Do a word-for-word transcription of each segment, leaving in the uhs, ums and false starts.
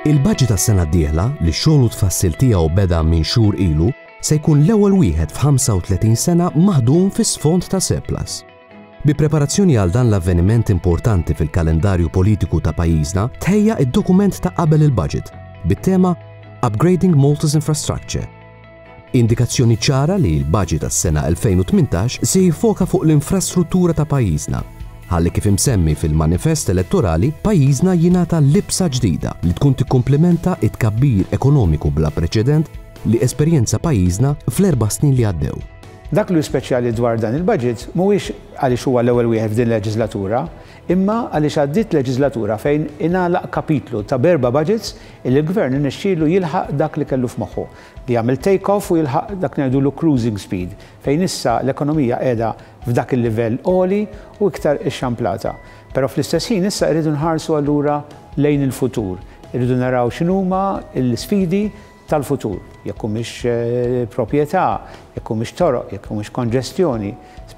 Il-budget tas-sena d-dieħla, li xogħol u tfassil tiegħu beda minn xhur ilu, se jkun l-ewwel wieħed f'ħamsa u tletin sena maħdum fi sfond ta' surplus. Bi preparazzjoni għal dan l-avveniment importanti fil-kalendarju politiku ta' pajjiżna, tħejja id-dokument ta' qabel il-budget bit-tema Upgrading Malta's Infrastructure. Indikazzjoni ċara li l-budget tas-sena elfejn u tmintax se jiffoka fuq l-infrastruttura ta' pajjiżna, ħalli kif imsemmi fil-manifest elettorali, pajjiżna jingħata libsa ġdida li tkun tikkumplementa it-tkabbir ekonomiku bla preċedent li esperjenza pajjiżna fl-erba' snin li għaddew. Dak li hu speċjali dwar dan il-budget mhuwiex għaliex huwa l-ewwel wieħed f'din leġislatura, imma għaliex għaddiet leġislatura fejn ingħalaq kapitlu ta' berba budgets illi l-gvern irnexxielu jilħaq dak li kellu f'moħħu, li jagħmel take-off u jilħaq dak ngħidulu cruising speed, fejn issa l-ekonomija qiegħda f'dak il-livell għoli u iktar ixxamplata. Però fl-istess ħin issa rridu nħarsu allura lejn il-futur, irridu naraw x'inhuma l-sfidi tal-futur, jekk humiex, eh, proprjetà, jekk humiex toroq, jekk humiex konġestjoni,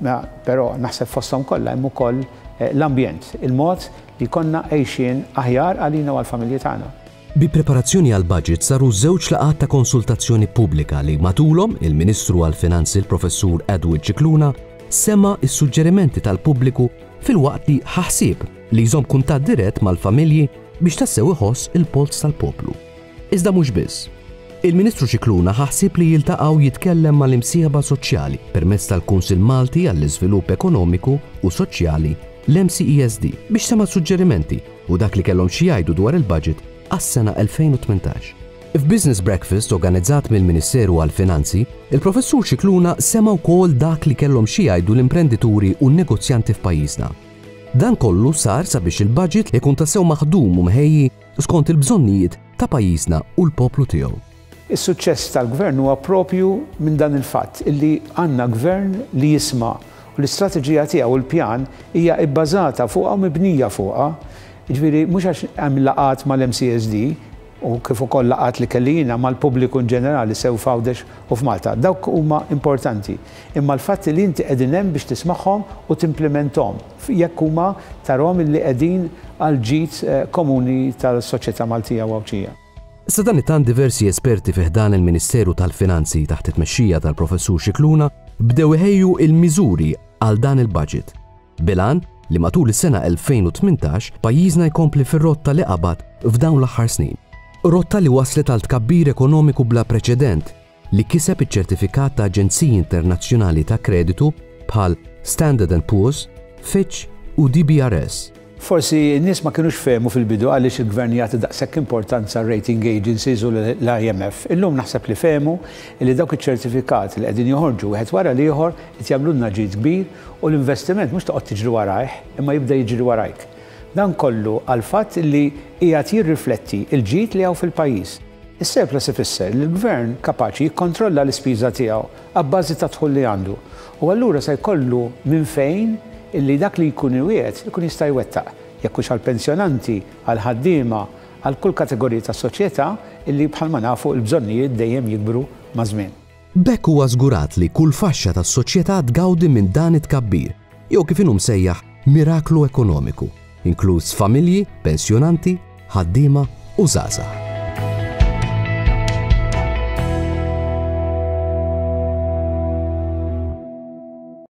ma, però naħseb fosthom kollha hemm ukoll, eh, l-ambjent, il-mod li konna għejxin aħjar għalina u għall-familji tagħna. Bi preparazzjoni għal budget saru żewġ laqgħat ta' konsultazzjoni pubblika li matulhom il-Ministru għall-Finanzi l-Professur Edward Scicluna sema s-suġġerimenti tal-pubbliku filwaqt li ħaħsieb li jżomm kuntatt dirett mal-familji biex tassew iħoss il-polz tal-poplu. Iżda mhux biss. Il-Ministru Scicluna ħaħsieb li jiltaqgħu jitkellem mal-imsieħba soċjali permezz tal-Kunsill Malti għall-Iżvilupp Ekonomiku u Soċjali, l-M C E S D, biex sema' suġġerimenti u dak li kellhom xi jgħidu dwar il-budget għas-sena elfejn u tmintax. F'Business Breakfast organizzat mill-Ministeru għall-Finanzi, il-Professur Scicluna sema' wkoll dak li kellhom xi jgħidu l-imprendituri u n-negozjanti f'pajjiżna. Dan kollu sar sabiex il-budget ikun tassew maħdum u mħejji skont il-bżonnijiet ta' pajjiżna u l-poplu tiegħu. Is-suċċess tal-gvern huwa propju minn dan il-fatt illi għandna gvern li jisma' u l-istrateġija tiegħu u l-pjan hija bbażata fuqha u mibnija fuqha. Jiġifieri mhux għax hemm laqgħat mal-M C S D u kif ukoll laqgħat li kelli jiena mal-pubbliku in ġenerali sew f'Għawdex u f'Malta. Dawk huma importanti. Imma l-fatt li inti qegħdin hemm biex tismagħhom u timplementhom jekk huma tarhom illi qegħdin għal ġid, eh, komuni tal-soċjetà Maltija u Għawdxija. Sadanittant diversi esperti fi ħdan il-Ministeru tal-Finanzi taħt it-tmexxija tal-Professur Scicluna bdew iħejju il-miżuri għal dan il-budget. Bilan li matul is-sena elfejn u tmintax pajjiżna jkompli fir-rotta li qabad f'dawn l-aħħar snin. Rotta li waslet għal tkabbir ekonomiku bla preċedent li kiseb iċ-ċertifikat ta' aġenziji internazzjonali ta' kreditu bħal Standard and Poor's, Fitch u D B R S. Forsi n-nies ma kinux fehmu fil-bidu għaliex il-gvern jagħti daqshekk importanza rating agencies u l-I M F. Illum naħseb li fehmu li dawk iċ-ċertifikati li qegħdin joħorġu wieħed wara l-ieħor qed jagħmlulna ġid kbir u l-investiment mhux toqgħod tiġri warajh imma jibda jiġri warajk. Dan kollu għal fatt li qiegħed jirrifletti l-ġid li hawn fil-pajjiż. Is-surplus ifisser li l-gvern kapaċi jikkontrolla l-ispiża tiegħu abbażi ta' dħul li għandu. U allura se jkollu minn fejn illi dak li jkun iwiegħed ikun jista' jwettaq, jekk hux għall-pensjonanti, għall-ħaddiema, għal kull kategorija tas-soċjetà illi bħalma nafu l-bżonnijiet dejjem jikbru maż-żmien. B'hekk huwa żgurat li kull faxxa tas-soċjetà tgawdi minn dan it-tkabbir, jew kif inhu msejjaħ miraklu ekonomiku, inkluż familji, pensjonanti, ħaddiema u żgħażagħ.